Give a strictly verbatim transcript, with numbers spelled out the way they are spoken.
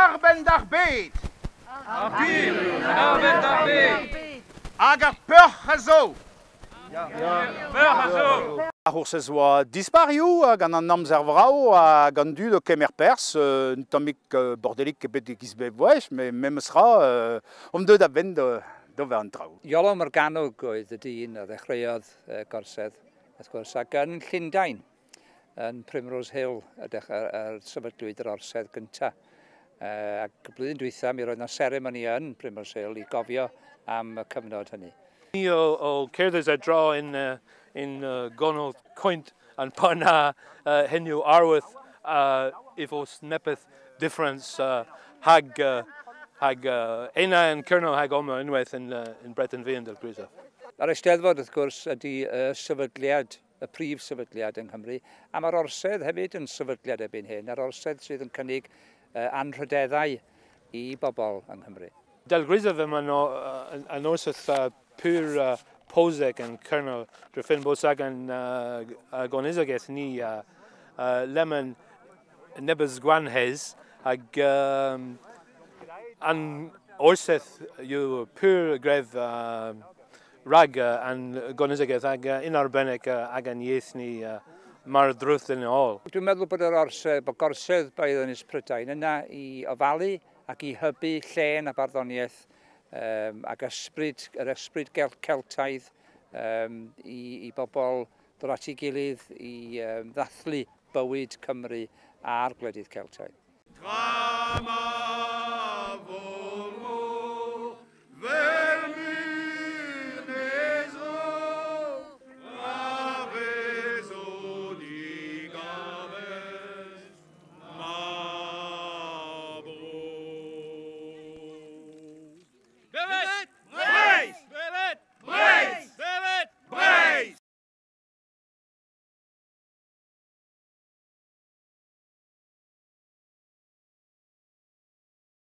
arbenn d'ar bed. Ar gwir en arbenn d'ar bed. Hag ar peoc'h a zo. Ya, peoc'h a zo. Ar c'hoursez oa disparioù gant an amzer vrav hag an dud o kemer perzh, un tammig bordelik ebet e giz bep gwech, met memes ra omp deuet a-benn d'ober an traoù. Iolo Morgannwg oedd y dyn a ddechreuodd gorsedd, wrth gwrs, ac yn Llundain, yn Primrose Hill, y sefydlwyd yr orsedd gyntaf. Ac blwyddyn dwytha, mi roedd yna seremoni yn Primrose Hill i gofio am y cyfnod hynny. Ni o, o cerdded a draw yn, uh, in uh, gonol coint an parna uh, henw arwydd uh, if os nepeth difference uh, hag uh, hag uh, ena yn Kernow hag oma unwaith yn, uh, yn Breton Vihan del Grisaf. Yr Eisteddfod, wrth gwrs, ydy y sefydliad, y prif sefydliad yng Nghymru, a mae'r orsedd hefyd yn sefydliad erbyn hyn, yr orsedd sydd yn cynnig uh, anrhydeddau i bobl yng Nghymru. Del Grisaf yma no, uh, orsedd uh, pur uh, poseg yn Kernow drefyn bosag yn uh, gonizagaeth ni uh, uh, lemon nebys gwanhez hag um, an orsedd yw pur gref uh, rag uh, an gonizagaeth hag uh, un arbennig uh, ag an ieith ni uh, mar drwth yn ôl. Dwi'n meddwl bod yr orsedd, bod gorsedd Beirdd Ynys Prydain yna i ofalu ac i hybu llên a barddoniaeth um, ac ysbryd, yr ysbryd Celtaidd um, i, i bobl ddod at ei gilydd i um, ddathlu bywyd Cymru a'r gwledydd Celtaidd. Tra ma